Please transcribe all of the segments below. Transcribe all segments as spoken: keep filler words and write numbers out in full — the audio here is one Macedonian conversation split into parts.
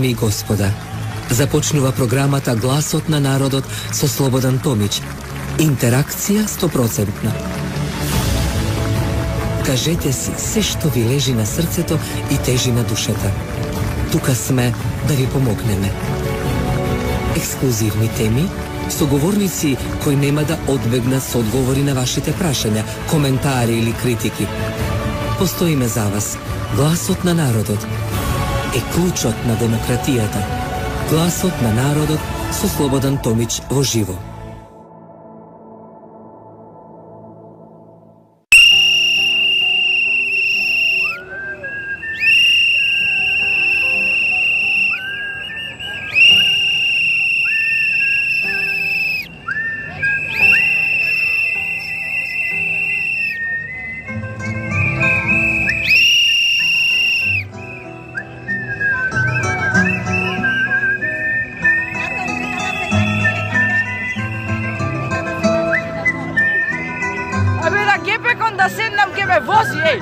Дами и господа, започнува програмата Гласот на народот со Слободан Томич. Интеракција сто проценти. Кажете си се што ви лежи на срцето и тежи на душата. Тука сме да ви помогнеме. Ексклузивни теми, соговорници кои нема да одбегнат со одговори на вашите прашања, коментари или критики. Постоиме за вас. Гласот на народот е клучот на демократијата. Гласот на народот со Слободан Томич во живо. Da sednam ke me vozi, ej!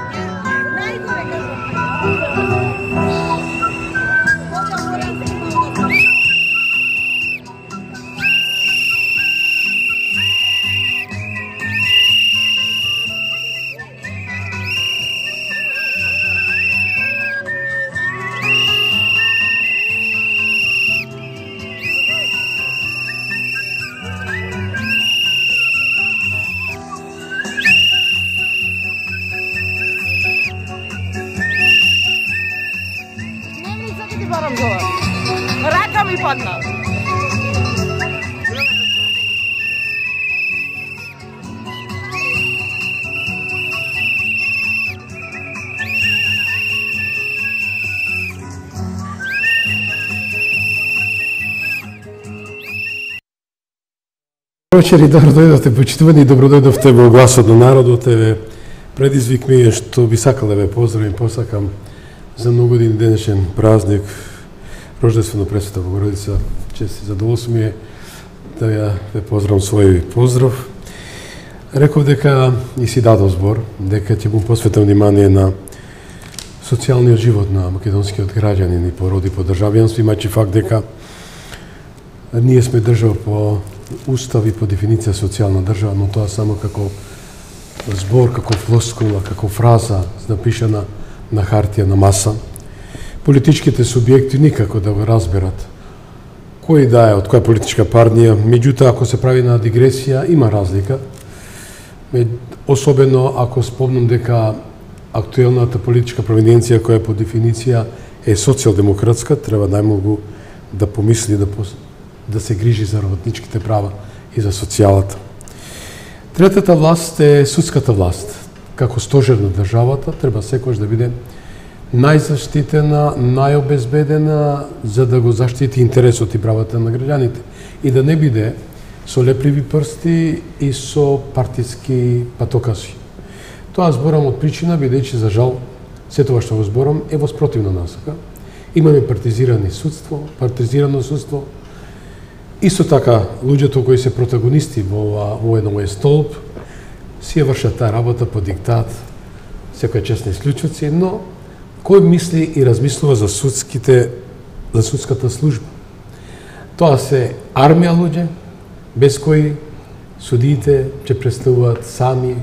Рака ми падна. Вечер и добро дојдовте, почитувани, добро дојдовте во Гласот на народот. Еве, предизвик ми е што би сакал да ве поздравим, посакам за многогодини денешен празник, Рождествено Пресвета Богородица. Чест и задоволство ми е да ја ве поздравам свој поздрав. Реков дека и си дадов збор, дека ќе му посветам внимание на социјалниот живот на македонскиот граѓанин и породи по државјанство, имајќи факт дека ние сме држава по устав и по дефиниција социјална држава, но тоа само како збор, како флоскула, како фраза напишана на хартија, на маса. Политичките субјекти никако да го разберат кој да е, од која политичка партија. Меѓутоа, ако се прави на дигресија, има разлика. Особено ако спомнам дека актуелната политичка провиденција, која по дефиниција е социјалдемократска, треба најмногу да помисли да, пос... да се грижи за работничките права и за социјалата. Третата власт е судската власт. Како стожер на државата, треба секојаш да биде најзаштитена, најобезбедена, за да го заштити интересот и правата на граѓаните и да не биде со лепливи прсти и со партиски патокаси. Тоа зборам од причина, бидејќи за жал се тоа што го зборам е во спротивна насока. Имаме партизирани судство, партизирано судство. Исто така, луѓето кои се протагонисти во во еден столб си ја вршат таа работа по диктат, секоја честни исклучоци, но кој мисли и размислува за судските, за судската служба? Тоа се армија луѓе, без кои судиите ќе представуваат сами,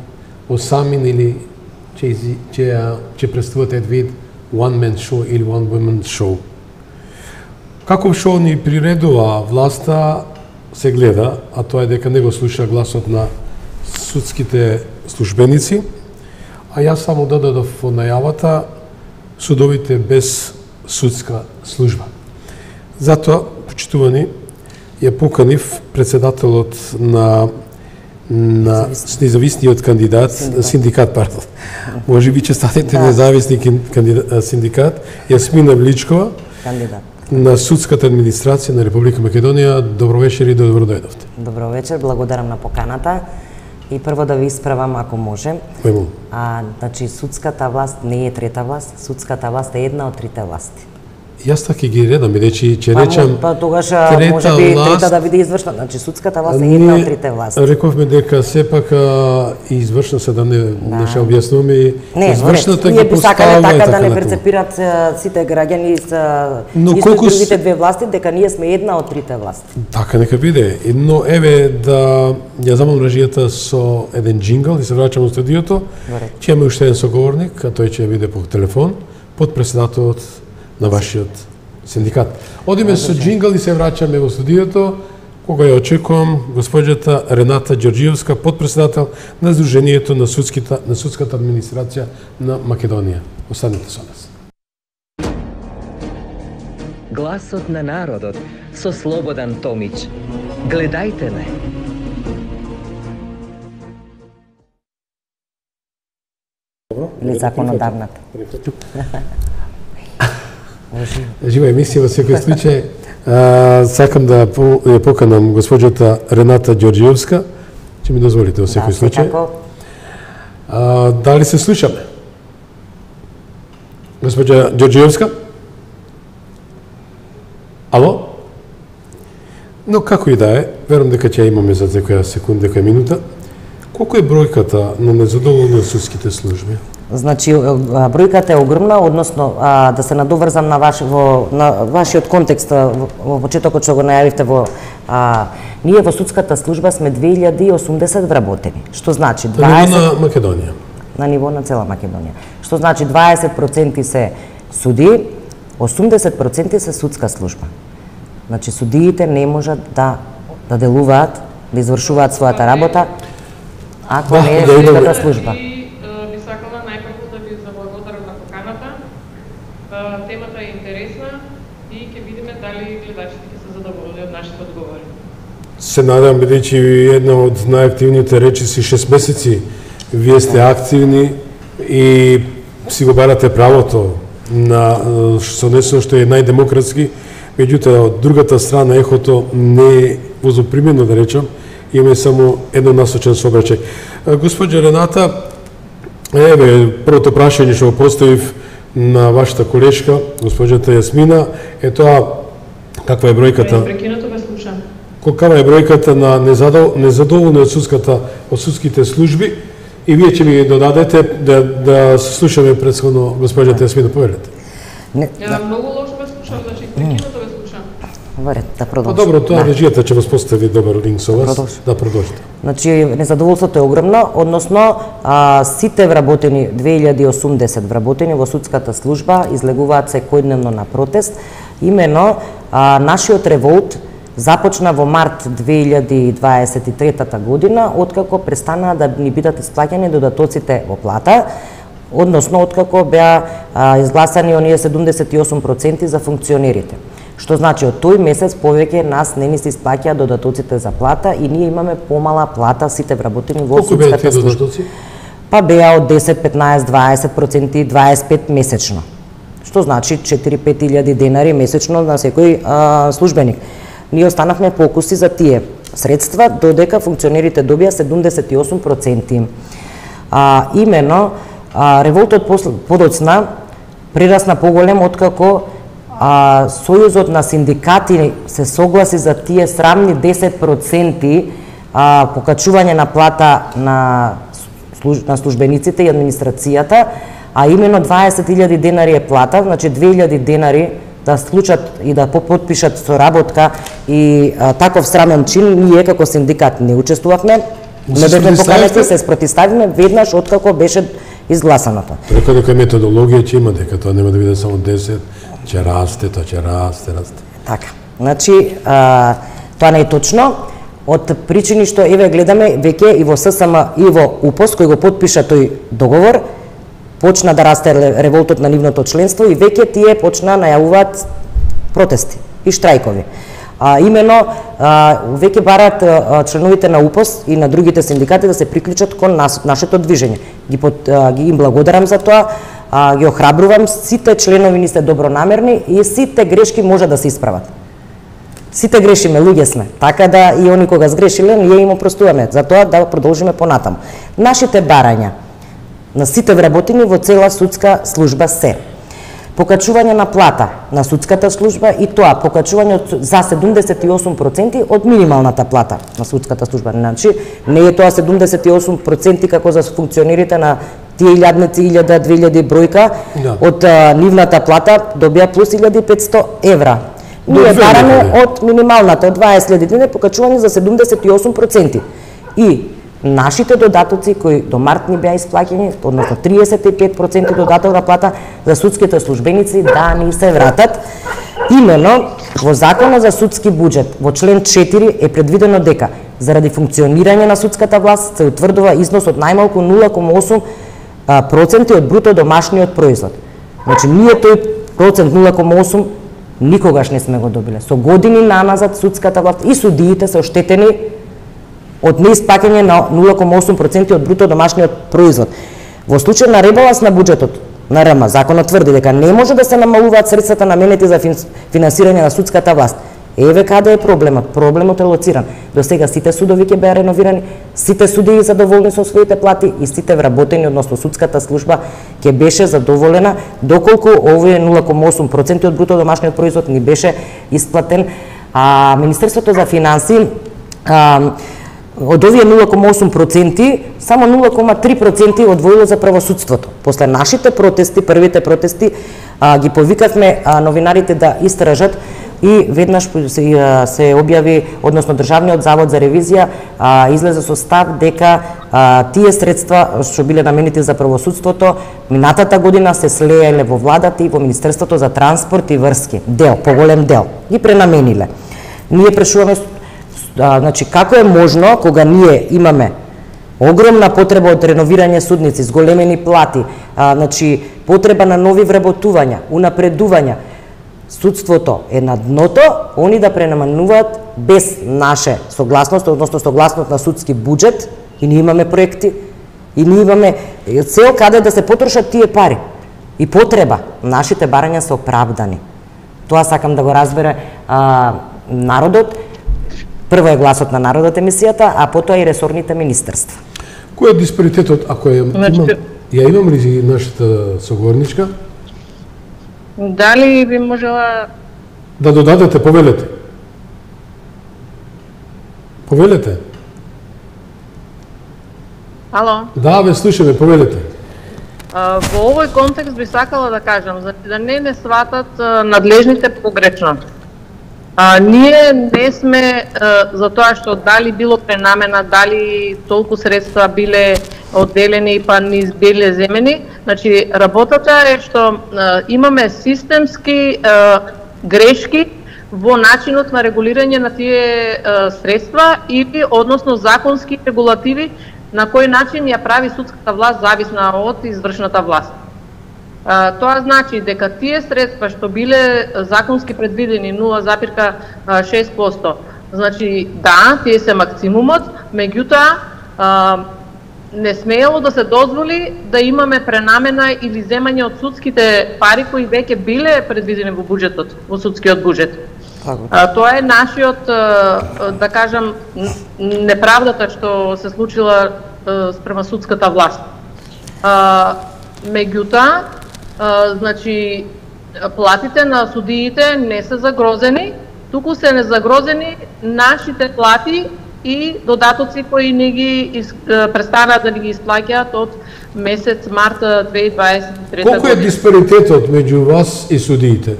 осамин или ќе, ќе, ќе представуваат ед вид one man show или one woman show. Каков шоу ни приредува власта се гледа, а тоа е дека не го слуша гласот на судските службеници, а јас само додадов во најавата судовите без судска служба. Затоа, почитувани, ја поканив председателот на на независниот кандидат, синдикат, синдикат пардон. Може би ќе станете независни кандидат, синдикат, Јасмина Вличкова, кандидат на судската администрација на Република Македонија. Добро вечер и добро дојдовте. Добро вечер, благодарам на поканата. И прво да ви исправам ако може. Кој А, значи судската власт не е трета власт, судската власт е една од трите власти. Јас така ги редам, бидејќи ќе речам па тогаш може би трета да биде извршна, значи судската власт е една од трите власти. Рековме дека сепак и извршна се да не да. не ше објаснуваме и не, извршната ги поставува така, така да не натаму. перцепират сите граѓани со но исто колку другите две власти дека ние сме една од трите власти. Така нека биде. Но еве да ја замам режијата со еден джингл и се враќам во студиото. Ќе имаме уште еден соговорник, а тој ќе биде по телефон, подпредседателот на вашиот синдикат. Одиме со джингл и се враќаме во студиото, кога ја очекувам госпоѓата Рената Ѓорѓиевска, подпредседател на Сдруженијето на судската на судската администрација на Македонија. Останете со нас. Гласот на народот со Слободан Томич. Гледајте ме. Или законодавната. Жива емисија во секој случај. А, сакам да ја поканам госпоѓата Рената Ѓорѓиевска. Ќе ми дозволите во секој да, случај. А, дали се слушаме? Госпоѓа Ѓорѓиевска? Ало? Но како и да е, верувам дека ќе имаме за некоја секунда, некоја минута. Колку е бројката на незадоволни од судските служби? Значи бројката е огромна, односно а, да се надоврзам на ваш во на вашиот контекст во, во почетокот што го најавивте во а, ние во судската служба сме две илјади и осумдесет вработени, што значи дваесет на ниво на Македонија. На ниво на цела Македонија. Што значи дваесет проценти се суди, осумдесет проценти се судска служба. Значи судиите не можат да да делуваат, да извршуваат својата работа ако да, не е да, судската служба. Би сакала најпрво да ви заблагодарам на поканата. Темата е интересна и ќе видиме дали гледачите ќе се задоволни од нашите одговори. Се надам, бидејќи една од најактивните речиси шест месеци вие сте активни и си го барате правото на со нешто што е најдемократски, меѓутоа од другата страна ехото не е возопримено, да речам, имаме само еднонасочен сообраќај. Госпоѓа Рената, еве првото прашање што го поставив на вашата колешка, госпоѓата Јасмина, е тоа каква е бројката? Прекинато ве слушам. Каква е бројката на незадоволни од судската од судските служби и вие ќе ми додадете да да се слушаме претходно госпоѓата Јасмина, повелете. Не, да. Многу лошо ве слушам, значи прекинато ве слушам. Добре, да продолжи. Па добро, тоа да. Режијата ќе вас постави добар линк со вас. Продолжи. Да продолжите. Значи незадоволството е огромно, односно а, сите вработени две илјади и осумдесет вработени во судската служба излегуваат секојдневно на протест. Имено а, нашиот револт започна во март две илјади дваесет и трета година, откако престанаа да ни бидат исплаќани додатоците во плата, односно откако беа а, изгласани оние седумдесет и осум проценти за функционерите. Што значи од тој месец повеќе нас не ни се исплаќаа додатоците за плата и ние имаме помала плата сите вработени во судската служба. Па беа од десет, петнаесет, дваесет проценти, дваесет и пет месечно. Што значи четири-пет илјади денари месечно на секој а, службеник. Ние останавме покуси за тие средства, додека функционерите добија седумдесет и осум проценти. А, имено, а, револтот подоцна прирасна поголем откако а, Сојузот на синдикати се согласи за тие срамни десет проценти а, покачување на плата на, служ, на службениците и администрацијата, а имено дваесет илјади денари е плата, значи две илјади денари да случат и да потпишат соработка и а, таков срамен чин, ние како синдикат не учествувавме, не бевме поканети, се спротивставивме веднаш откако беше изгласаното. Преку дека методологија ќе има, дека тоа нема да биде само десет, ќе расте, тоа ќе расте, расте. Така. Значи, а, тоа не е точно. Од причини што еве гледаме веќе и во ССМ и во УПОС кој го потпиша тој договор, почна да расте револтот на нивното членство и веќе тие почна најавуваат протести и штрајкови. А, имено, а, веќе барат а, членовите на УПОС и на другите синдикати да се приклучат кон нас, нашето движење. Ги, под, а, ги им благодарам за тоа, а, ги охрабрувам, сите членови ни се добронамерни и сите грешки може да се исправат. Сите грешиме, луѓе сме, така да и они кога сгрешиле, ние им опростуваме, за тоа да продолжиме понатаму. Нашите барања на сите вработени во цела судска служба се. покачување на плата на судската служба и тоа покачување за седумдесет и осум проценти од минималната плата на судската служба. Значи, не е тоа седумдесет и осум проценти како за функционерите на тие илјадници, илјада, две илјади бројка, да. Од а, нивната плата добија плюс илјада и петсто евра. Ние бараме од минималната, од дваесет илјади денари, покачување за седумдесет и осум проценти. И нашите додатоци кои до март ни беа исплаќени, односно триесет и пет проценти додаток на плата за судските службеници да ни се вратат. Имено во Законот за судски буџет во член четири е предвидено дека заради функционирање на судската власт се утврдува износ од најмалку нула кома осум проценти од бруто домашниот производ. Значи ние тој процент нула кома осум никогаш не сме го добиле. Со години наназад судската власт и судиите се оштетени од неиспаќање на нула кома осум проценти од бруто домашниот производ. Во случај на ребаланс на буџетот на РМ, законот тврди дека не може да се намалуваат средствата наменети за финансирање на судската власт. Еве каде е проблемот. Проблемот е лоциран. До сега сите судови ќе беа реновирани, сите судии задоволни со своите плати и сите вработени, односно судската служба ќе беше задоволена доколку овие нула кома осум проценти од бруто домашниот производ ни беше исплатен. А Министерството за финансии а, од овие нула кома осум проценти, само нула кома три проценти одвоило за правосудството. После нашите протести, првите протести, а, ги повикавме а, новинарите да истражат и веднаш се, се објави, односно Државниот завод за ревизија а, излезе со став дека а, тие средства што биле наменети за правосудството минатата година се слееле во владата и во Министерството за транспорт и врски. Дел, поголем дел. Ги пренамениле. Ние прашуваме А, значи, како е можно, кога ние имаме огромна потреба од реновирање судници, с големени плати, а, значи, потреба на нови вработувања, унапредувања, судството е на дното, они да пренаменуваат без наше согласност, односно согласност на судски буџет, и ние имаме проекти, и ние имаме цел каде да се потрошат тие пари. И потреба, нашите барања се оправдани. Тоа сакам да го разбере а, народот. Прво е гласот на народот емисијата, а потоа и ресорните министерства. Кој е диспаритетот, ако е, имам, ја имам ли нашата соговорничка? Дали би можела... Да додадете, повелете. Повелете. Ало? Да, ве слушаме, повелете. А, во овој контекст би сакала да кажам, за да не не сватат а, надлежните погрешно. А, ние не сме а, за тоа што дали било пренамена, дали толку средства биле одделени па ни биле земени. Значи, работата е што а, имаме системски а, грешки во начинот на регулирање на тие а, средства или односно законски регулативи на кој начин ја прави судската власт зависна од извршната власт. А, тоа значи дека тие средства што биле законски предвидени нула запирка шест проценти, значи да, тие се максимумот, меѓутоа не смеело да се дозволи да имаме пренамена или земање од судските пари кои веќе биле предвидени во буџетот, во судскиот буџет. А, тоа е нашиот, да кажам, неправдата што се случила спрема судската власт. А, меѓутоа, значи, платите на судиите не се загрозени, туку се не загрозени нашите плати и додатоци кои не ги из, престанаат да ги исплаќаат од месец март две илјади дваесет и трета година. Колку е диспаритетот меѓу вас и судиите?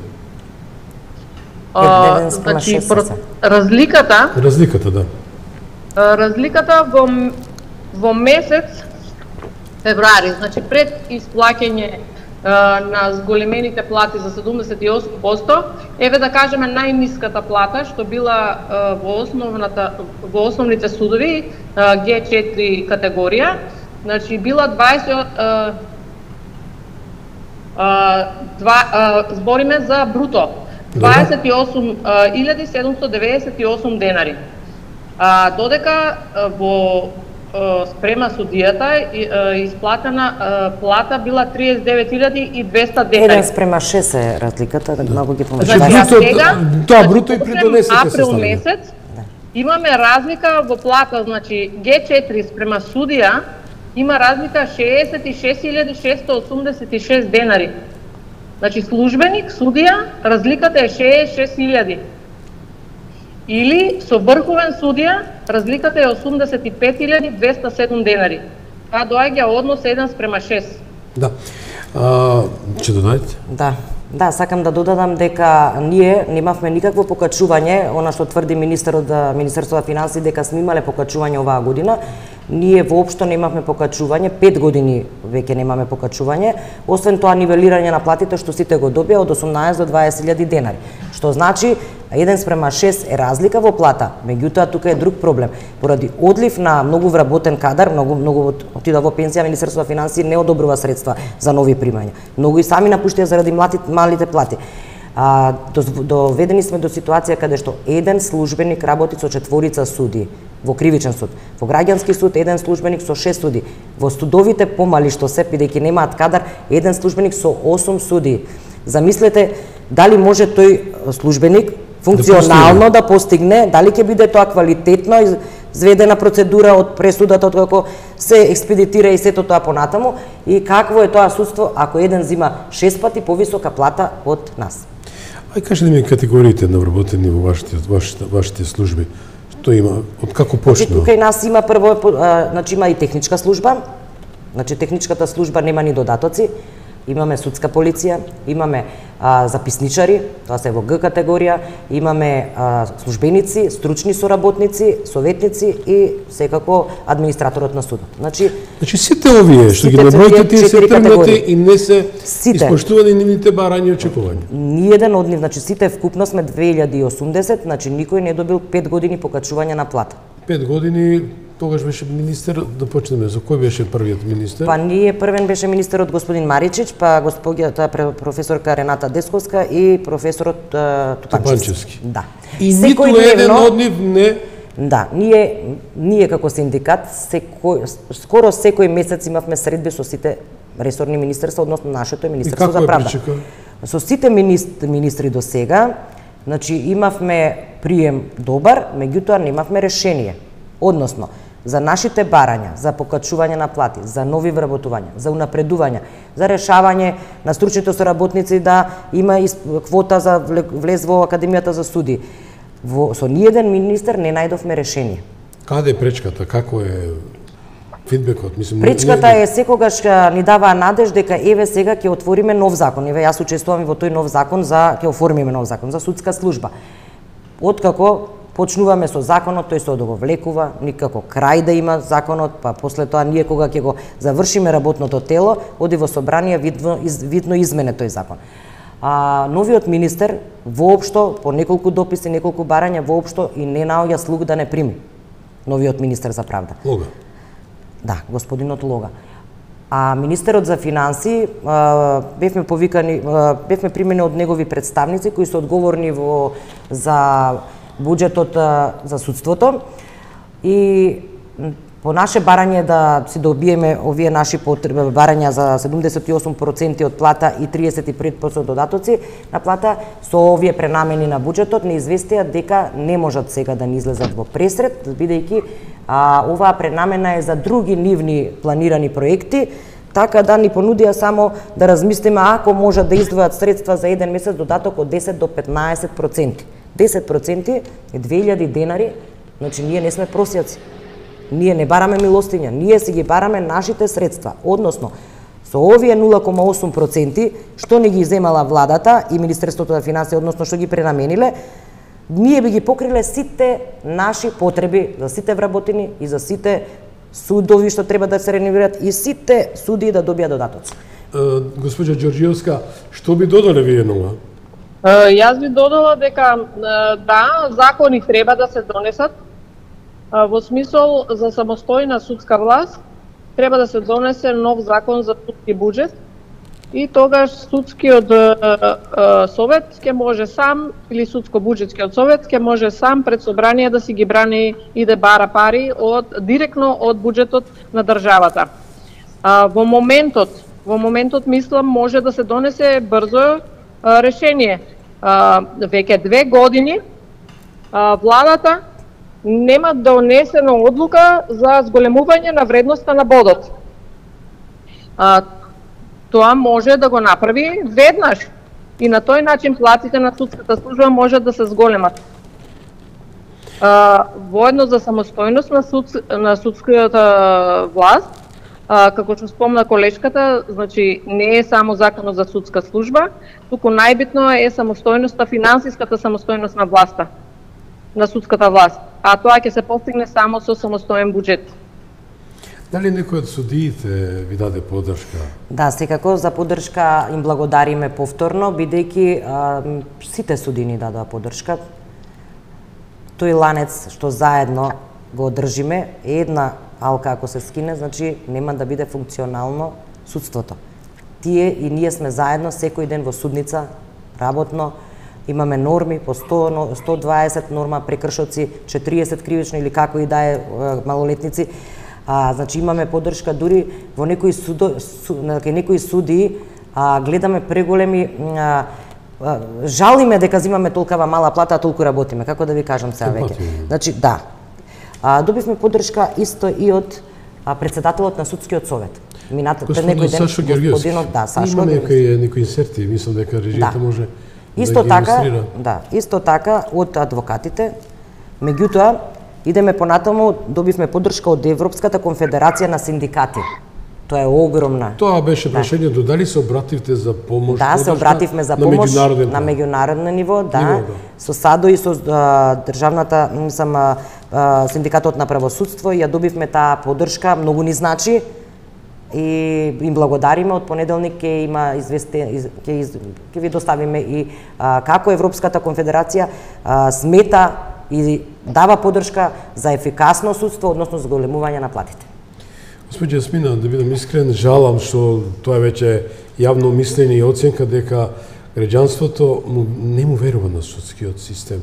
А, значи, разликата... Разликата, да. Разликата во, во месец февруари, значи пред исплаќање на зголемените плати за седумдесет и осум проценти, еве да кажеме најниската плата што била во основната во основните судови Г четири категорија, значи била дваесет збориме за бруто дваесет и осум илјади седумстотини деведесет и осум денари. А, додека во спрема судијата исплатена плата била триесет и девет илјади и двеста денари. Еден спрема шест е разликата, многу ги помешаваме. Значи, бруто, сега, тоа бруто и придонесите се април месец имаме разлика во плата, значи Г четири спрема судија има разлика шеесет и шест илјади шестстотини осумдесет и шест денари. Значи службеник, судија, разликата е шеесет и шест илјади. Или со врховен судија, разликата е осумдесет и пет илјади двеста и седум денари. Тоа доаѓа однос еден спрема шест. Да. А, ќе додаде? Да. Да, сакам да додадам дека ние немавме никакво покачување, она што тврди министерот за Министерството за финансии дека сме имале покачување оваа година. Ние воопшто немавме покачување, пет години веќе немаме покачување, освен тоа нивелирање на платите што сите го добија од осумнаесет до дваесет илјади денари. Што значи еден спрема шест е разлика во плата, меѓутоа тука е друг проблем. Поради одлив на многу вработен кадар, многу многу отида во пензија, Министерството за финансии не одобрува средства за нови примања. Многу и сами напуштија заради малите плати. А, доведени сме до ситуација каде што еден службеник работи со четворица суди во кривичен суд. Во граѓански суд еден службеник со шест суди. Во судовите помали што се, бидејќи немаат кадар, еден службеник со осум суди. Замислете дали може тој службеник функционално да постигне, дали ќе биде тоа квалитетно изведена процедура од пресудата, откако се експедитира и сето тоа понатаму, и какво е тоа судство ако еден зима шест пати повисока плата од нас. Ај кажете ми категориите на вработени во вашите, вашите, вашите служби. Што има, од како почнува? Тука и нас има прво, а, значи има и техничка служба, значи техничката служба нема ни додатоци, имаме судска полиција, имаме а, записничари, тоа се во Г категорија, имаме а, службеници, стручни соработници, советници и секако администраторот на судот. Значи, значи сите овие што ги наброите тие се тргнати и не се сите испоштувани нивните барања и очекувања. Ниеден од нив, значи сите вкупно сме две илјади и осумдесет, значи никој не добил пет години покачување на плата. пет години тогаш беше министер, да почнеме, за кој беше првиот министер? Па ние првен беше министерот господин Маричич, па господјата професорка Рената Десковска и професорот Тупанчевски. Тупанчевски. Да. И ниту еден од нив не... Да, ние ние како синдикат секој скоро секој месец имавме средби со сите ресорни министерства, односно нашето Министерство за правда. Со сите министри, министри до сега, значи имавме прием добар, меѓутоа немавме решение. Односно, за нашите барања, за покачување на плати, за нови вработувања, за унапредување, за решавање на стручните соработници да има квота за влез во Академијата за суди. Во, со ниеден министер не најдовме решение. Каде е пречката? Како е фидбекот? Мислам, пречката е секогаш ни дава надеж дека еве сега ќе отвориме нов закон. Еве јас учествувам во тој нов закон за ќе оформиме нов закон за судска служба. Откако почнуваме со законот, тој се одговлекува, никако крај да има законот, па после тоа ние кога ќе го завршиме работното тело, оди во собрание видно, из, видно измене тој закон. А, новиот министер воопшто, по неколку дописи, неколку барања, воопшто и не наоѓа слуг да не прими. Новиот министер за правда. Лога. Да, господинот Лога. А министерот за финансии, а, бевме повикани, а, бевме примени од негови представници кои се одговорни во за буџетот а, за судството и по наше барање да си добиеме овие наши потреби, барања за седумдесет и осум проценти од плата и триесет и пет проценти додатоци на плата, со овие пренамени на буџетот не известија дека не можат сега да ни излезат во пресред, бидејќи а, оваа пренамена е за други нивни планирани проекти, така да ни понудија само да размислиме ако можат да издвојат средства за еден месец додаток од десет до петнаесет проценти. десет проценти е две илјади денари, значи ние не сме просјаци. Ние не бараме милостиња, ние си ги бараме нашите средства, односно со овие нула кома осум проценти што не ги земала владата и Министерството за финансии, односно што ги пренамениле, ние би ги покриле сите наши потреби за сите вработени и за сите судови што треба да се реновираат и сите суди да добијат додатоци. Госпоѓа Ѓорѓиевска, што би додале вие на ова? Јас би додала дека да, закони треба да се донесат во смисол за самостојна судска власт, треба да се донесе нов закон за судски буџет и тогаш судскиот совет ќе може сам или судско-буџетскиот совет ќе може сам пред собрание да си ги брани и да бара пари од директно од буџетот на државата. Во моментот, во моментот мислам може да се донесе брзо решение. Веќе две години владата нема донесена одлука за зголемување на вредноста на бодот. тоа може да го направи веднаш. И на тој начин платите на судската служба може да се зголемат. Воедно за самостојност на, суд, на судската власт, а, како што спомна колешката, значи не е само законот за судска служба, туку најбитно е самостојноста, финансиската самостојност на власта, на судската власт. А тоа ќе се постигне само со самостоен буџет. Дали некој од судиите ви даде поддршка? Да, секако за поддршка им благодариме повторно, бидејќи сите судии ни дадоа поддршка. Тој ланец што заедно го одржиме, една алка ако се скине, значи нема да биде функционално судството. Тие и ние сме заедно секој ден во судница, работно, имаме норми по сто, сто дваесет норма прекршоци, четириесет кривично или како и да е малолетници. А, значи имаме поддршка дури во некои судо, су, некои судии, а, гледаме преголеми а, а, жалиме дека земаме толкова мала плата, а толку работиме, како да ви кажам сега веќе. Значи да. А, добивме поддршка исто и од а, председателот на судскиот совет. Мината пред некој ден Сашо Георгиевски. Да, Сашо Има некои некои инсерти, мислам дека режијата да. може исто да така, илустрира. да, исто така од адвокатите. Меѓутоа идеме понатаму, добивме поддршка од Европската конфедерација на синдикати. Тоа е огромна. Тоа беше прашањето, да. дали се обративте за помош? Да, се обративме за помош на меѓународно, на меѓународно ниво, да. Ниво, да. Со САДО и со а, државната, мислам, а, синдикатот на правосудство, ја добивме таа поддршка, многу ни значи и им благодариме. Од понеделник ќе има известе, ќе ќе ви доставиме и а, како Европската конфедерација а, смета и дава поддршка за ефикасно судство, односно зголемување на платите. Господи Јасмина, да бидам искрен, жалам што тоа е веќе јавно мислење и оценка дека граѓанството не му верува на судскиот систем.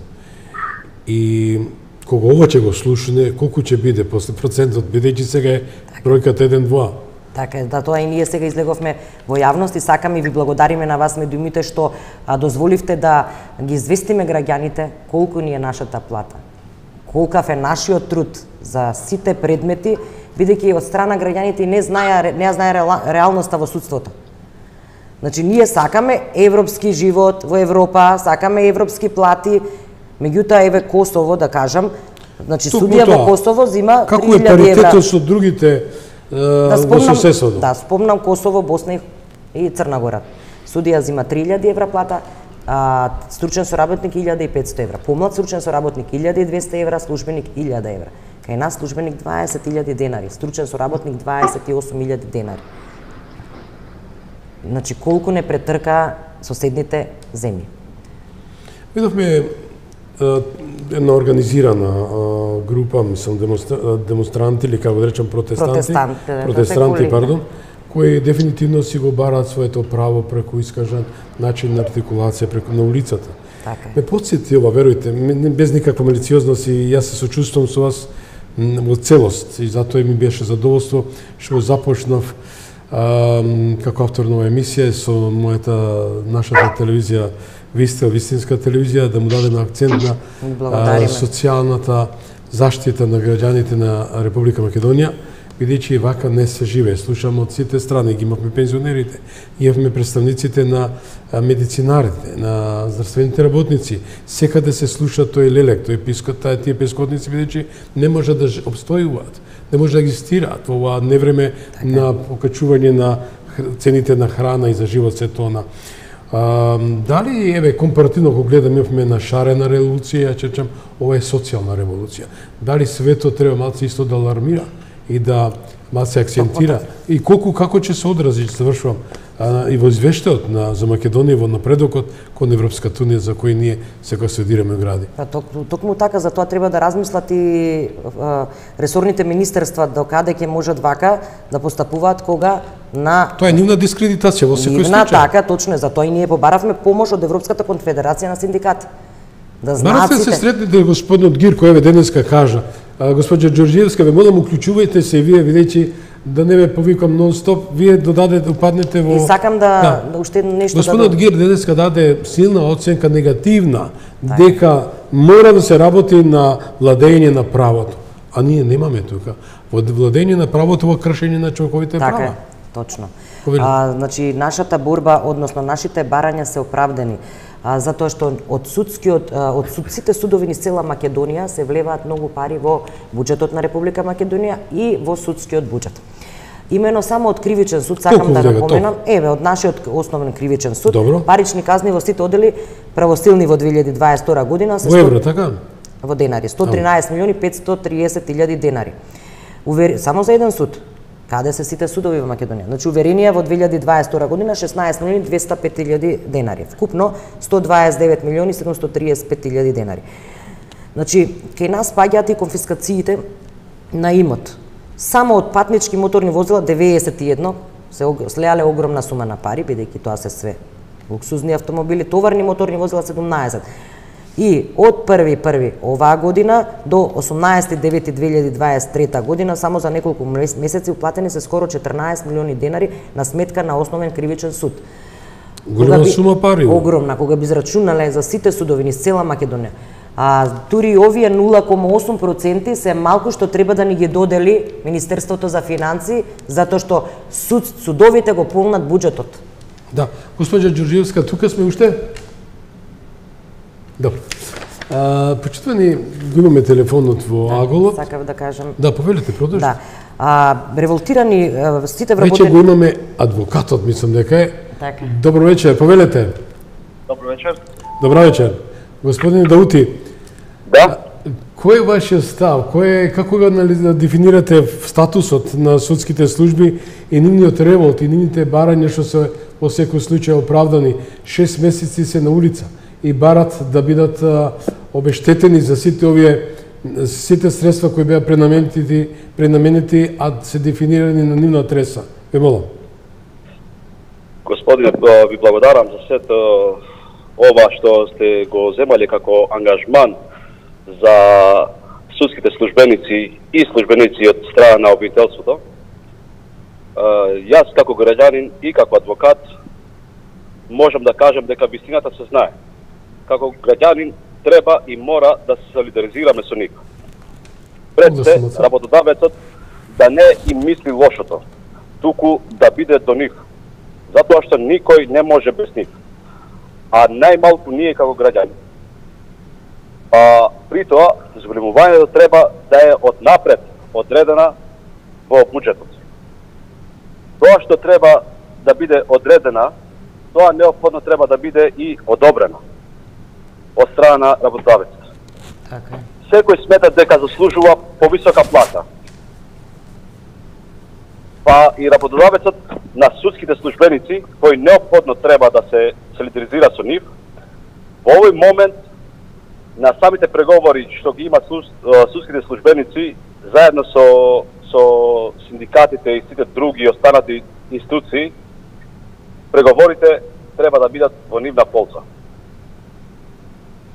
И кога ова ќе го слушне, колку ќе биде после процентот, бидејќи сега е бројката еден-два. Така е, да, тоа и ние сега излеговме во јавност и сакаме и ви благодариме на вас медиумите што а, дозволивте да ги известиме граѓаните колку ни е нашата плата, колкав е нашиот труд за сите предмети, бидејќи од страна граѓаните не знаја не знае реалноста во судството. Значи ние сакаме европски живот во Европа, сакаме европски плати, меѓутоа еве Косово да кажам, значи судија во Косово зима три илјади евра. Како е паритетот со другите да спомнам, да, спомнам Косово, Босна и Црна Гора. Судија зима три илјади евра плата, а, стручен соработник илјада и петсто евра. Помлад стручен соработник илјада и двесте евра, службеник илјада евра. Кај нас службеник дваесет илјади денари, стручен соработник дваесет и осум илјади денари. Значи колку не претрка соседните земји. Видовме една организирана група, мислам, демонстранти или како да речам протестанти, Протестант, протестанти, пардон, кои дефинитивно си го бараат своето право преку искажан начин на артикулација преку на улицата. Така. Ме потсети ова, верујте, без никаква малициозност и јас се сочувствувам со вас во целост и затоа ми беше задоволство што започнав а, како автор на оваа емисија со мојата нашата телевизија Вистел, вистинска телевизија, да му дадеме акцент на а, социјалната заштита на граѓаните на Република Македонија, бидејќи вака не се живее. Слушаме од сите страни, ги имавме пензионерите, имавме представниците на медицинарите, на здравствените работници. Секаде се слуша тој лелек, тој пискот, тие пескотници, бидејќи не може да обстојуваат, не може да екзистираат во ова невреме на покачување на цените на храна и за живот се тона. А, дали, еве, компаративно го гледам, имавме на шарена револуција, ја чечам, ова е социјална револуција. Дали светот треба малце исто да алармира и да малце акцентира? И колку, како ќе се одрази, завршувам, а, и во извештајот на, за Македонија, во напредокот кон Европската унија, за кој ние се консолидираме гради? Па, ток, токму така, за тоа треба да размислат и а, ресорните министерства до каде ќе можат вака да постапуваат кога на Тоа е нивна дискредитација во секој нивна, случај. така, точно е, затоа и ние побаравме помош од Европската конфедерација на синдикати. Да знаат Барате сите. се сретнете господинот Гирко, еве денеска кажа, господја Ѓорѓиевска, ве молам, уклучувајте се и вие, видејќи да не ве повикам нон-стоп, вие додадете, упаднете во... И сакам да, да уште нешто Господинот да... Гир денеска даде силна оценка негативна, дека мора да се работи на владење на правото. А ние немаме тука. Во владење на правото во кршење на човековите така права. Е. Точно. Повелите. А, значи, нашата борба, односно нашите барања се оправдани, а, затоа што од судскиот, од судците судови низ цела Македонија се влеваат многу пари во буџетот на Република Македонија и во судскиот буџет. Имено само од кривичен суд сакам да напоменам, еве од нашиот основен кривичен суд, Добро. парични казни во сите одели правосилни во две илјади дваесет и втора година се Во евро, така? во денари, сто тринаесет милиони петстотини и триесет илјади денари. Увер... Само за еден суд. Каде се сите судови во Македонија? Значи уверенија во две илјади дваесет и втора година шеснаесет милиони двеста и пет илјади денари. Вкупно сто дваесет и девет милиони седумстотини и триесет и пет илјади денари. Значи кај нас паѓаат и конфискациите на имот. Само од патнички моторни возила деветдесет и едно се слеале огромна сума на пари, бидејќи тоа се све луксузни автомобили, товарни моторни возила седумнаесет. И од први први оваа година до осумнаесети девети две илјади дваесет и трета година само за неколку месеци уплатени се скоро четрнаесет милиони денари на сметка на основен кривичен суд. Голема сума пари. Огромна, кога би израчунале за сите судови низ цела Македонија. А дури овие нула кома осум проценти се малку што треба да ни ги додели Министерството за финансии, затоа што суд, судовите го полнат буџетот. Да, госпоѓа Ѓорѓиевска, тука сме уште? Добро. А, почитувани, го имаме телефонот во да, аголот. Сакав да кажам. Да, повелете, продолжи. Да. А, револтирани сите вработени... Веќе го имаме адвокатот, мислам дека е. Така. Добро вечер, повелете. Добро вечер. Добро вечер. Господине Даути. Да. Кој е вашиот став? Кој е, како го дефинирате статусот на судските служби и нивниот револт и нивните барања што се во секој случај оправдани? Шест месеци се на улица и барат да бидат а, обештетени за сите овие сите средства кои беа пренаменети, пренаменети, а се дефинирани на нивна адреса. Ве молам. Господине, ви благодарам за сето ова што сте го земале како ангажман за судските службеници и службеници од страна на обвинителството. Јас како граѓанин и како адвокат можам да кажам дека вистината се знае. Како граѓанин треба и мора да се солидаризираме со нив. Пред се, работодавецот да не им мисли лошото, туку да биде до нив. Затоа што никој не може без нив. А најмалку ние како граѓани. А при тоа, зголемувањето треба да е од напред одредена во буџетот. Тоа што треба да биде одредена, тоа неопходно треба да биде и одобрено од страна на работодавецот. Така. Секој смета дека заслужува повисока плата. Па и работодавецот на судските службеници, кои неопходно треба да се солидаризира со нив, во овој момент на самите преговори што ги има судските службеници заедно со со синдикатите и сите други останати институции, преговорите треба да бидат во нивна полза.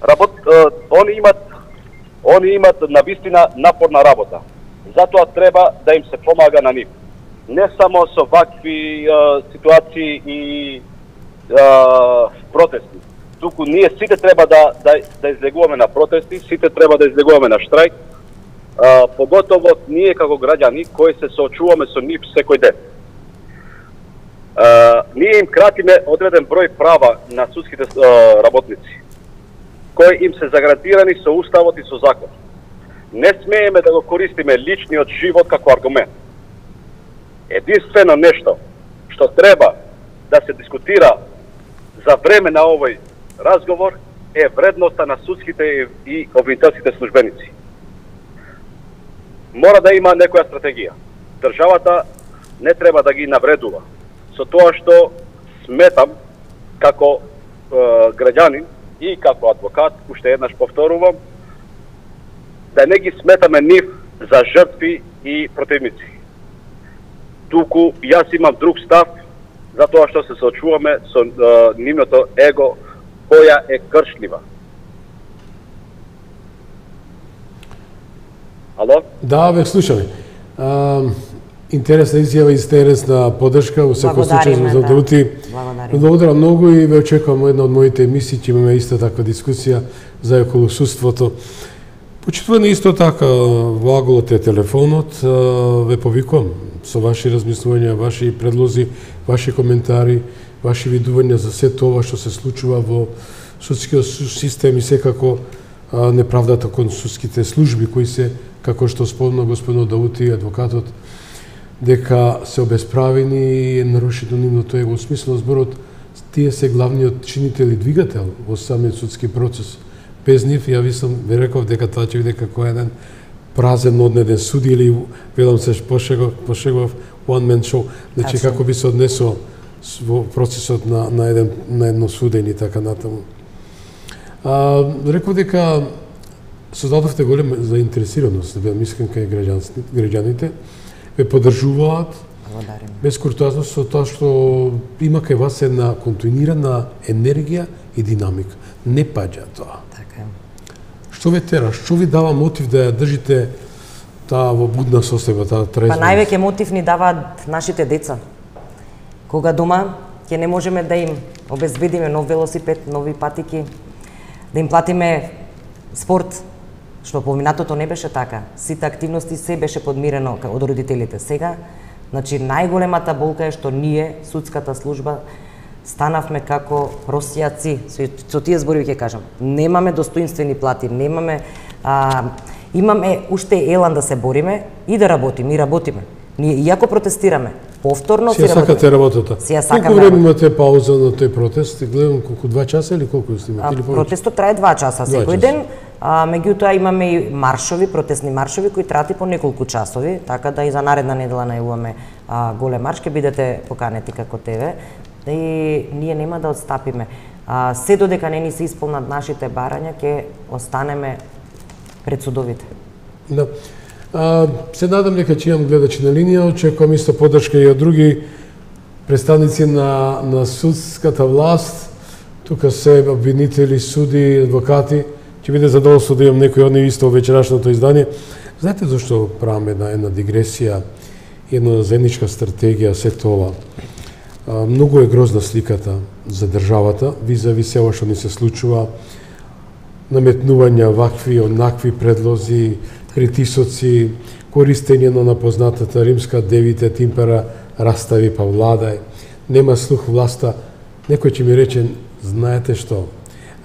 Работ, они имат они имат навистина напорна работа. Затоа треба да им се помага на нив. Не само со вакви е, ситуации и е, протести. Туку ние сите треба да, да, да излегуваме на протести, сите треба да излегуваме на штрајк, а, поготово ние како граѓани кои се соочуваме со нив секој ден. А, ние им кратиме одреден број права на судските а, работници, кои им се заградирани со уставот и со закон. Не смееме да го користиме личниот живот како аргумент. Единствено нешто што треба да се дискутира за време на овој разговор е вредноста на судските и обвинителските службеници. Мора да има некоја стратегија. Државата не треба да ги навредува со тоа што сметам како е, граѓанин и како адвокат, уште еднаш повторувам, да не ги сметаме нив за жртви и противници. Туку јас имам друг став, затоа што се соочуваме со е, нивното его, која е кршлива. Ало? Да, ве слушаме. А, интересна изјава и интересна подршка, во секој случај за Даути. Благодарам многу и ве очекувам една од моите емисии, ќе имаме иста таква дискусија за околу судството. Почитувани исто така во аголот е телефонот, ве повикувам со ваши размислувања, ваши предлози, ваши коментари, ваши видувања за се тоа што се случува во судскиот систем и секако неправдата кон судските служби кои се, како што спомна господин Даути, адвокатот, дека се обесправени и е нарушено нивното его. Во смисло зборот, тие се главниот чинител и двигател во самиот судски процес. Без нив, ја ви сум ви реков дека тоа ќе биде како еден празен однеден суди или, велам се пошегов, пошегов one man show. Значи, Absolutely. Како би се однесо во процесот на, на, еден, на едно судење и така натаму. А, реков дека создадовте голема заинтересираност, да бидам искрен кај граѓаните, ве поддржуваат без куртоазност со тоа што има кај вас една континуирана енергија и динамика. Не паѓа тоа. Така. Што ве тера? Што ви дава мотив да ја држите таа во будна состојба, таа трезва? Па највеќе мотив ни даваат нашите деца. Кога дома ќе не можеме да им обезбедиме нов велосипед, нови патики, да им платиме спорт, што поминатото не беше така. Сите активности се беше подмирено од родителите. Сега, значи најголемата болка е што ние, судската служба, станавме како просијаци, со, со тие зборови ќе кажам. Немаме достоинствени плати, немаме а, имаме уште елан да се бориме и да работиме, и работиме. Ние иако протестираме, повторно си работиме. Сија сакате работата. Сија сакаме. Колку време имате пауза на тој протест? Гледам колку два часа или колку снимате или повеќе? Протестот трае два часа секој ден. А, меѓутоа имаме и маршови, протестни маршови кои траат и по неколку часови, така да и за наредна недела најавуваме голем марш, ќе бидете поканети како тебе. И ние нема да отстапиме. А, се додека не ни се исполнат нашите барања, ќе останеме пред судовите. Да. А, се надам дека ќе имам гледачи на линија, очекувам исто поддршка и од други представници на, на судската власт. Тука се обвинители, суди, адвокати. Ќе биде задоволство да имам некој од нив исто во вечерашното издание. Знаете зашто правам една, една дигресија, една заедничка стратегија, се тоа? А, многу е грозна сликата за државата, визави се ова што ни се случува, наметнувања вакви, онакви предлози, притисоци, користење на напознатата римска девите тимпера, растави па владај, нема слух власта. Некој ќе ми рече, знаете што,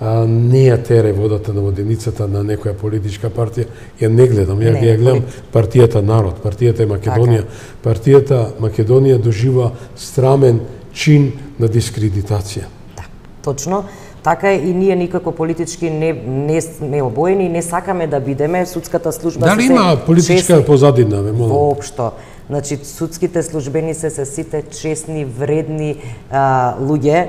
а, не ја тере водата на воденицата на некоја политичка партија, ја не гледам, ја не, ја гледам партијата Народ, партијата е Македонија. Партијата Македонија дожива страмен чин на дискредитација. Да, точно. Така е и ние никако политички не, не сме обоени и не сакаме да бидеме. Судската служба Дали има политичка честни, позадина, ме молам? Воопшто. Значи, судските службеници се сите честни, вредни а, луѓе,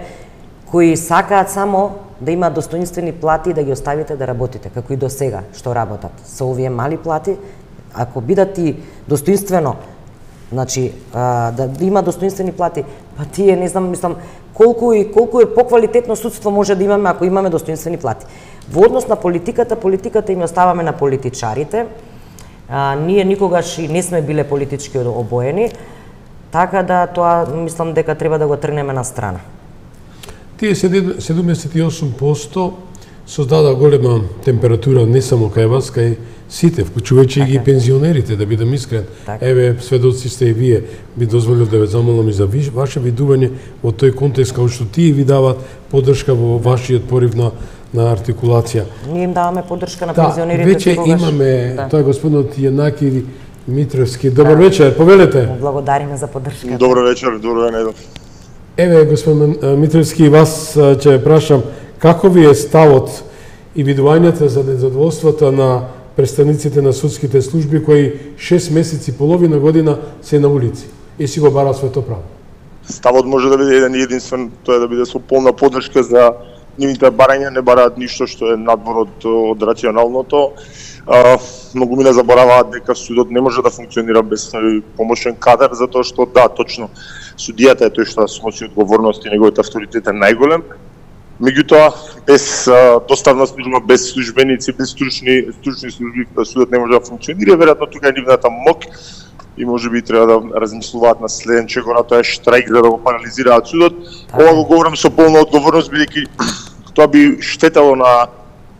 кои сакаат само да има достоинствени плати и да ги оставите да работите, како и до сега што работат. Со овие мали плати, ако бидат и достоинствено, значи, а, да има достоинствени плати, па тие, не знам, мислам, колку и колку е поквалитетно судство може да имаме ако имаме достоинствени плати. Во однос на политиката, политиката им оставаме на политичарите. А, ние никогаш и не сме биле политички обоени, така да тоа мислам дека треба да го тргнеме на страна. Тие седумдесет и осум проценти создада голема температура не само кај вас, кај сите, вклучувајќи и ги пензионерите, да бидам искрен. Так. Еве, сведоци сте и вие, би дозволил да ве замолам и за ваше видување во тој контекст, као што тие ви дават поддршка во вашиот порив на, на артикулација. Ние им даваме поддршка на да, пензионерите. Веќе тогаш... имаме, да. Тоа е господинот Јанаки Митровски. Добар да. вечер, повелете. Благодариме за поддршка. Добро вечер, добро ден. Еве, господин Митровски, вас ќе прашам, како ви е ставот и видувањата за незадоволството на представниците на судските служби кои шест месеци, половина година се на улици и си го бараат своето право? Ставот може да биде еден и единствен, тоа е да биде со полна поддршка за нивните барања, не бараат ништо што е надвор од, од рационалното. А, многу ми не забораваат дека судот не може да функционира без помошен кадар, затоа што да, точно, судијата е тој што сноси одговорност и неговиот авторитет е најголем. Меѓутоа, без а, доставна служба, без службеници, без стручни, стручни служби, судот не може да функционира. Веројатно тука е нивната мок и може би треба да размислуваат на следен чекор, а тоа е штрајк за да го парализираат судот. Ова го говорам со полна одговорност, бидејќи тоа би штетало на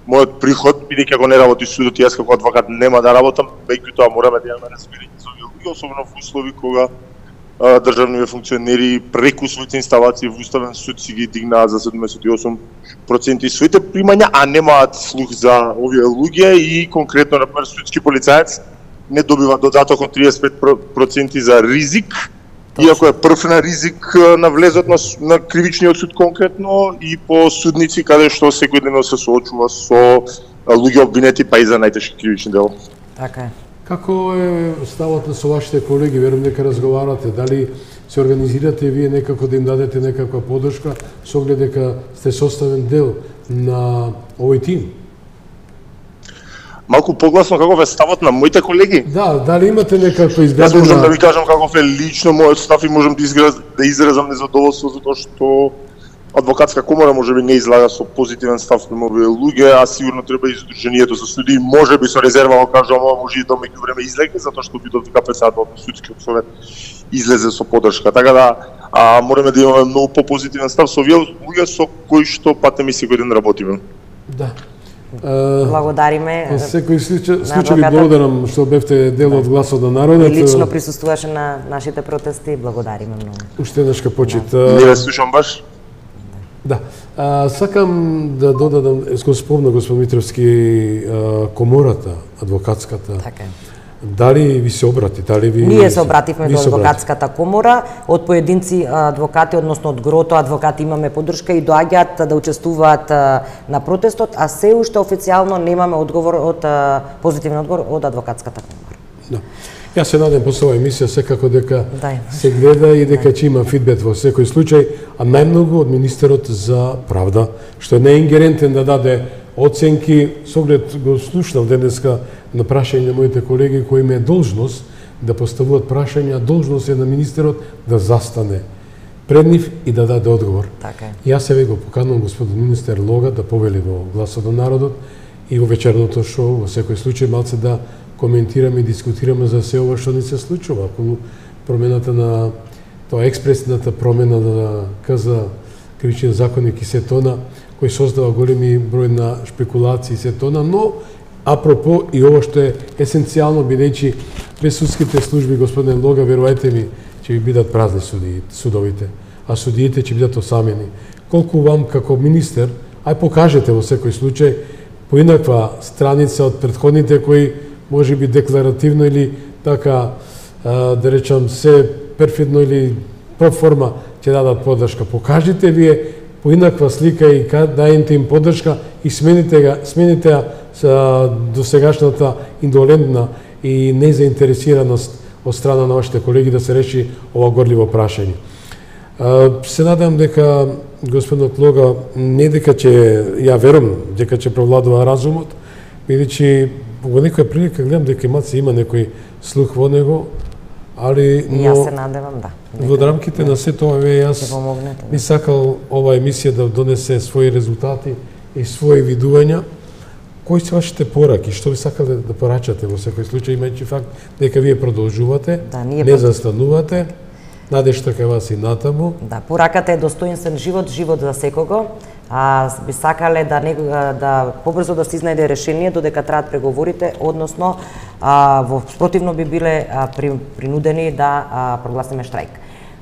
мојот приход, бидејќи ако не работи судот, јас како адвокат нема да работам, меѓутоа мораме да имаме разбирање за овие луѓе, особено во услови кога а, државниве функционери преку своите инсталации во Уставен суд си ги дигнаат за седумдесет и осум проценти своите примања, а немаат слух за овие луѓе и конкретно, например, судски полицаец не добива додаток од триесет и пет проценти за ризик, иако е прв на ризик на влезот на, на кривичниот суд конкретно и по судници каде што секојдневно се соочува со луѓе обвинети па и за најтешки кривични дела. Така е. Како е ставот на со вашите колеги, верувам дека разговарате, дали се организирате вие некако да им дадете некаква поддршка со оглед дека сте составен дел на овој тим? Малку погласно каков е ставот на моите колеги? Да, дали имате некаква изградена... Јас можам да ви кажам каков е лично мојот став и можам да, изграз... да изразам незадоволство затоа што адвокатска комора можеби не излага со позитивен став према овие луѓе, а сигурно треба и Сдруженијето за судии, можеби со резерва го кажам, ова може и до меѓувреме излезе затоа што видов дека председателот на судскиот совет излезе со поддршка. Така да а, мораме да имаме многу попозитивен став со овие луѓе со кои што патем и секој ден работиме. Да. Благодариме. Во секој случај, случај ви благодарам што бевте дел од гласот на народот. И лично присуствуваше на нашите протести, благодариме многу. Уште еднашка почит. Не ве слушам баш. Да. А, сакам да додадам, го спомна господин Митровски, а, комората, адвокатската. Така е. Дали ви се обрати, дали ви... Ние се обративме до адвокатската комора, од поединци адвокати, односно од грото адвокати имаме поддршка и доаѓаат да учествуваат на протестот, а се уште официјално немаме одговор од позитивен одговор од адвокатската комора. Да. Јас се надем после оваа емисија секако дека да. се гледа и дека ќе има фидбек во секој случај, а најмногу од министерот за правда, што не е ингерентен да даде оценки, со оглед го слушнав денеска на прашање на моите колеги кои има должност да поставуваат прашања, должност е на министерот да застане пред нив и да даде одговор. Така е. Јас се го поканувам господин министер Лога да повели во гласот на народот и во вечерното шоу во секој случај малце да коментираме и дискутираме за се ова што ни се случува околу промената на тоа експресната промена на КЗ кривичен законник и се тона, кој создава големи број на шпекулации и се тона, но апропо и ова што е есенцијално, бидејќи без судските служби, господин Лога, верувајте ми, ќе ви бидат празни суди, судовите, а судиите ќе бидат осамени. Колку вам како министер, ај покажете во секој случај поинаква страница од претходните кои може би декларативно или така, да речам, се перфидно или проформа ќе дадат поддршка. Покажите вие поинаква слика и дајте им поддршка и смените ga, смените ја за досегашната индолентна и незаинтересираност од страна на вашите колеги да се реши ова горливо прашање. Се надам дека господинот Лога не дека ќе, ја верувам дека ќе провладува разумот, бидејќи во некоја прилика гледам дека имаце има некој слух во него, али но јас се надевам да. Во рамките на се тоа јас би сакал ова емисија да донесе своји резултати и своји видувања. Кои се вашите пораки? Што би сакале да порачате во секој случај, имајќи факт дека вие продолжувате, да, не застанувате, надежта кај вас и натаму. Да, пораката е достоинствен живот, живот за секого. А би сакале да не, да побрзо да се изнајде решение додека траат преговорите, односно а, во спротивно би биле а, при, принудени да а, прогласиме штрајк.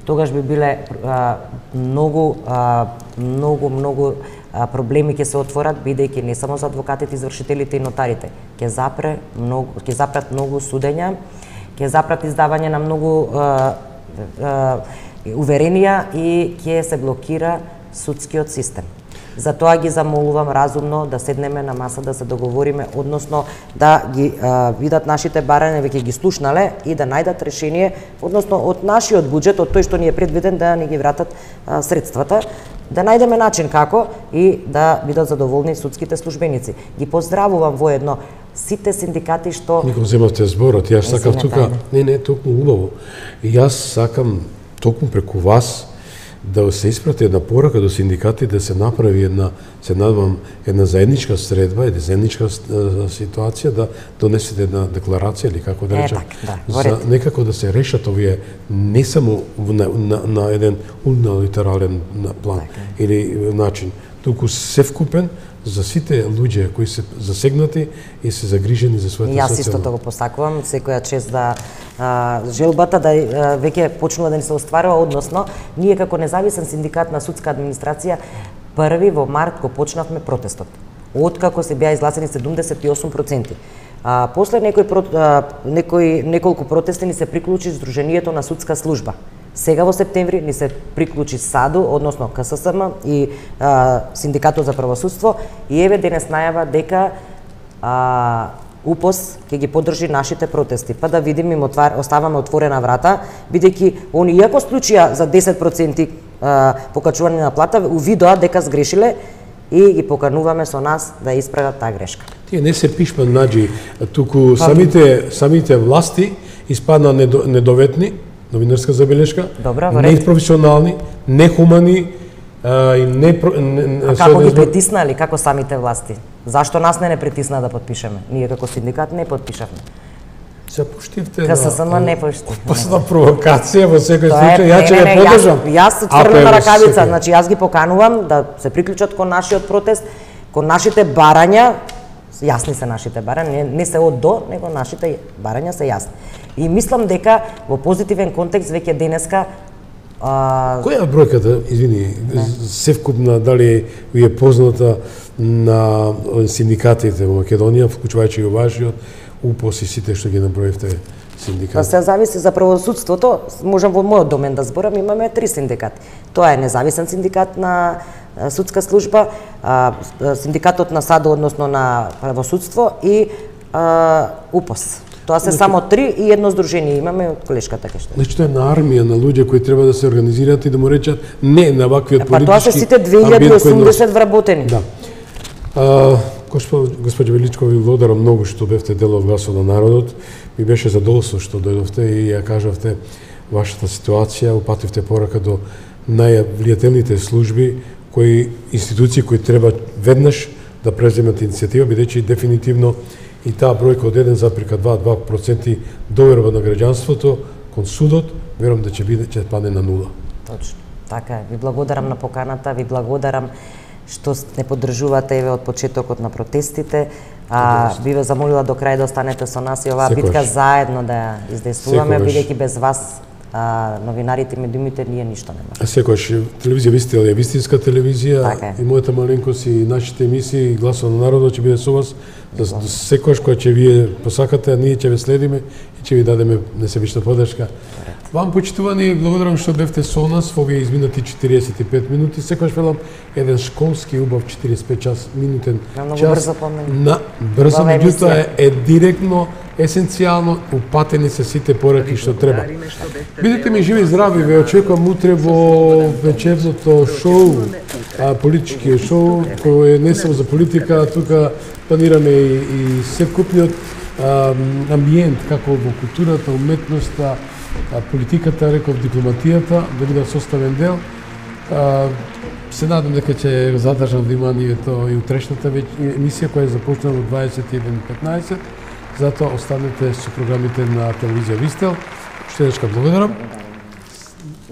Тогаш би биле а, многу а, многу многу а, проблеми ќе се отворат, бидејќи не само за адвокатите, извршителите и нотарите, ќе запре многу, ќе запрат многу судења, ќе запрат издавање на многу а, а, уверенија и ќе се блокира судскиот систем. Затоа ги замолувам разумно да седнеме на маса да се договориме, односно да ги а, видат нашите барања, веќе ги слушнале и да најдат решение, односно од нашиот буџет, од тој што ни е предвиден да ни ги вратат а, средствата, да најдеме начин како и да бидат задоволни судските службеници. Ги поздравувам воедно сите синдикати што... Ми го земавте зборот, јас сакам тука... Не, не, токму убаво. И јас сакам токму преку вас да се испрати една порака до синдикати да се направи една, се надвам, една заедничка средба, една заедничка ситуација, да донесете една декларација или како да речам, е, так, да, за некако да се решат овие не само на, на, на еден униlaterален план так, или начин, туку севкупен за сите луѓе кои се засегнати и се загрижени за својата социјална. Јас истото го посакувам, секоја чест да а, желбата да а, веќе почнува да ни се остварува, односно ние како независен синдикат на судска администрација први во март го почнавме протестот. Откако се беа изгласени седумдесет и осум проценти. А, после некои, а, некои, неколку протести ни се приклучи Сдруженијето на судска служба. Сега во септември ни се приклучи САДУ, односно К С С М и а, Синдикатот за правосудство, и еве денес најава дека а, У П О С ќе ги поддржи нашите протести. Па да видим, им отвар, оставаме отворена врата, бидејќи они иако склучија за десет проценти а, покачување на плата, увидоа дека сгрешиле и ги покануваме со нас да исправат таа грешка. Тие не се пишман наџи, туку самите самите власти испадна недо, недоветни, новинарска забелешка, непрофесионални, нехумани а, и не, не А како ги притиснали, како самите власти? Зашто нас не не притисна да подпишеме? Ние како синдикат не подпишавме. Се поштивте Ка се сама не пошти. Опасна провокација во секој случај, ја ќе ја поддржам. Јас отврнена ракавица, значи јас ги поканувам да се приклучат кон нашиот протест, кон нашите барања, јасни се нашите барања, не, не се од до, него нашите барања се јасни. И мислам дека во позитивен контекст веќе денеска а... Која е бројката, извини, севкупна, дали ви е позната на синдикатите во Македонија, вклучувајќи и вашиот, У П О С и сите што ги наброивте синдикати? Па се зависи за правосудството, можам во мојот домен да зборам, имаме три синдикати. Тоа е независен синдикат на судска служба, синдикатот на САДУ, односно на правосудство и У П О С. Тоа се само три и едно здружение имаме од колешката кај. Значи тоа е на армија на луѓе кои треба да се организираат и да му речат не на ваквиот политички. Па тоа се сите две илјади и осумдесет вработени. Да. А, Госпоѓа Величкова, ви благодарам многу што бевте дел од Гласот на народот. Ми беше задоволство што дојдовте и ја кажавте вашата ситуација, упативте порака до највлијателните служби, кои институции кои треба веднаш да преземат иницијатива, бидејќи дефинитивно и таа бројка од еден запирка два проценти доверба на граѓанството кон судот, верувам да ќе биде ќе падне на нула. Точно. Така е. Ви благодарам на поканата, ви благодарам што не поддржувате еве од почетокот на протестите. А, би ве замолила до крај да останете со нас и оваа Секојаш. битка заедно да ја издействуваме, бидејќи без вас а, новинарите и медиумите ние ништо не можеме. Секојаш телевизија Вистел е вистинска телевизија, така и мојата маленкост и нашите емисии Гласот на народот ќе биде со вас. Секојаш кога ќе вие посакате, ние ќе ве следиме и ќе ви дадеме несебична поддршка. Вам, почитувани, благодарам што бевте со нас во овие изминати четириесет и пет минути. Секојаш велам еден школски убав четириесет и пет час минутен на час. Брзо на брзо, меѓутоа е, е директно, есенцијално, упатени се сите пораки што треба. Бидете ми живи и здрави, ве очекувам утре во вечерното шоу, а, политичкиот шоу, кој е не само за политика, тука планираме и, и секупниот амбиент, како во културата, уметноста, политиката, реков дипломатијата, да бидат составен дел. Се надам дека ќе задржам вниманието и утрешната емисија која започна во дваесет и еден петнаесет. Затоа останете со програмите на телевизија Вистел. Уште еднашка благодарам.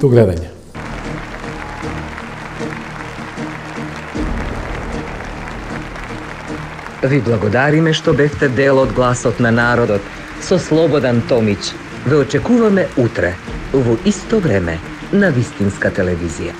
До гледање. Ви благодариме што бевте дел од Гласот на народот со Слободан Томич. Ве очекуваме утре, во исто време, на Вистинска телевизија.